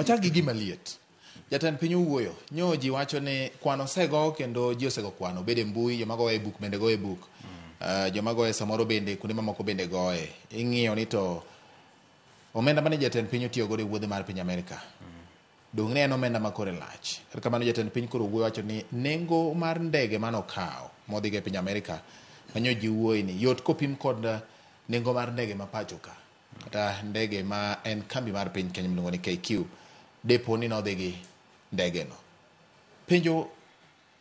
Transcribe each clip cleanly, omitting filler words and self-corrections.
Wachak gi gima liet. Jatend piny owuoyo. Nyo ji wacho ni kwan osego kendo ji osego kwano. Bede mbui, joma goye e buk bende goye e buk. Joma goye samoro bende kuonde mamoko bende goye. Ing'iyo ni to omenda mane jatend piny otiyo godo e wuodhe mar piny Amerika. Dong' ne en omenda ma kore lach. Kata kamano jatend piny koro wuoyo wacho ni nengo mar ndege mane okawo modhigo e piny Amerika manyo ji wuoye ni yot kopim kod nengo mar ndege ma pacho ka. Kata ndege ma en kambi mar piny Kenya miluongo ni KQ depo ni nodhi gi ndege no. Penjo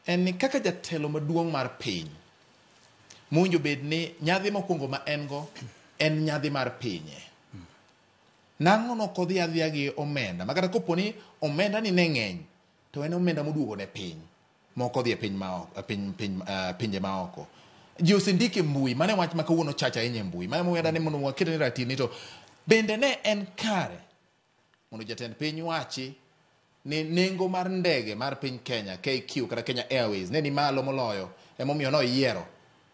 en ni kaka jatelo maduong' mar piny mowinjo bed ni nyadhi mokwongo ma en go en nyadhi mar pinye. Nang'o nok odhi adhiya gi omenda ma kata kopo ni omenda ni ne ng'eny to en omenda moduogo ne piny mok odhi e piny ma oko, piny, piny, pinje ma oko. Ji osendike e mbui, mano e wach ma kawuono chach ahinya e mbui. Mano emomiyo adani mondo wakete ni ratil ni to bende ne en kare mondo jatend piny wachi ni nengo mar ndege mar piny Kenya KQ kata Kenya Airways ne ni malo moloyo emomiyo noyiero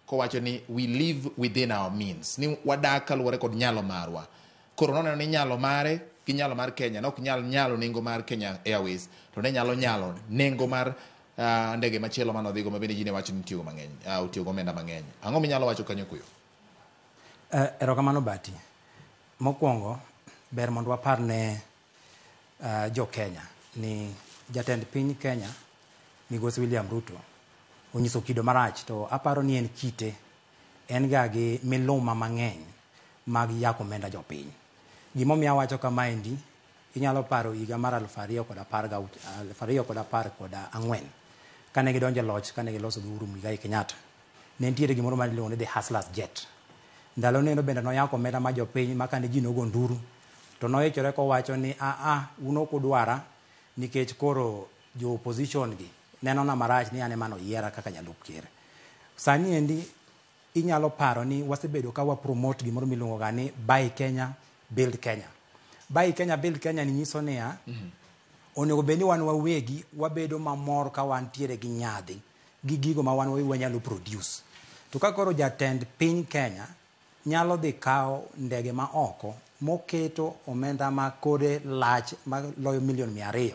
kowacho ni we live within our means ni wadak kaluwore kod nyalo marwa. Koro noneno ni nyalo mare gi nyalo mar Kenya ne ok nyal nyalo nengo mar Kenya Airways to ne nyalo nyalo nengo mar ndege machielo mane odhigo ma bende ji ne wacho ni otiyogo mang'eny, otiyo go omenda mang'eny. Ang'o minyalo wacho kanyo kuyo? Erokamano Bati. Mokwongo, ber mondo wapar ne jo Kenya ni jatend piny Kenya migosi William Ruto onyiso kido marach to aparo ni en kite en ga gi miluma mang'eny mag yako omenda jopiny. Gimomiyo awacho kamaendi, inyalo paro higa mar 2014 kane gidonjo e loch kane giloso gi Uhuru Muigai Kenyatta. Ne nitiere gimoro mane iluongo ni the Hustlers Jet. Ndalo neno bende noyako omenda ma jopiny ma kane ji nogo nduru to noichore kowacho ni aa un ok udwara nikech koro jo opposition gi nenona marach ni an ema noyiera kaka jalup ker. Sani endi inyalo paro ni wasebedo ka wa promote gimoro miluongo ga ni buy Kenya, build Kenya. Buy Kenya, build Kenya ni nyiso niya, onego bed ni wan wawegi wabedo mamor ka wantiere gi nyadhi gi gigo ma wan wawegi wanyalo produce. To ka koro jatend piny Kenya nyalo dhi kawo ndege ma oko moketo omenda ma kore lach maloyo milion 200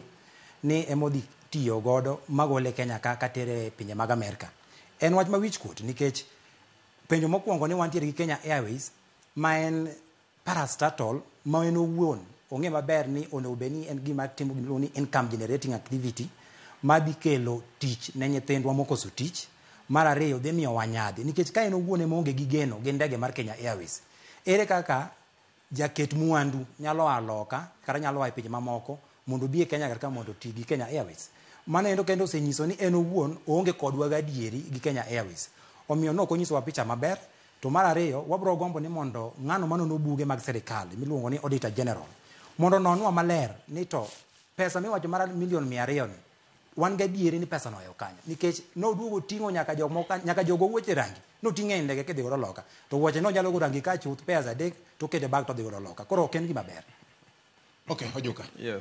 ni emodhi tiyo godo magole Kenya ka katere e pinje mag Amerka. En wach ma wich kuot nikech penjo mokwongo ni wantiere gi Kenya Airways ma en parastatal ma en owuon ong'e maber ni onego bed ni en gima timo gima iluongo ni income generating activity madhi kelo tich ne nyithindwa mokoso tich. Mar ariyo dhi miyowa nyadhi nikech ka en owuon ema oonge gi geno gi ndege mar Kenya Airways, ere kaka jaket mwandu nyalo a loka kata nyalo a e pinje mamoko mondo obi e Kenya kar ka mondo oti gi Kenya Airways. Mano endo kendo osenyiso ni en owuon oonge kodwa gadieri gi Kenya Airways. Omiyo nok onyisowa picha maber. To mar ariyo, wabro gombo ni mondo ng'ano manono buge mag sirikal miluongo ni Auditor General mondo ononwa maler ni to pesa miwacho mar milion 200 ni wan gadieri ni pesa no ohewo kanyo nikech noduogo ting'o nyaka jok moko nyaka jogo wuoche rangi noting'e e ndege kidhi godo loka to wuoche nonyalo go rangi ka chuth pairs adek to okete bag to odhi godo loka koro ok en gima ber. Okay, Ojuka. Yes.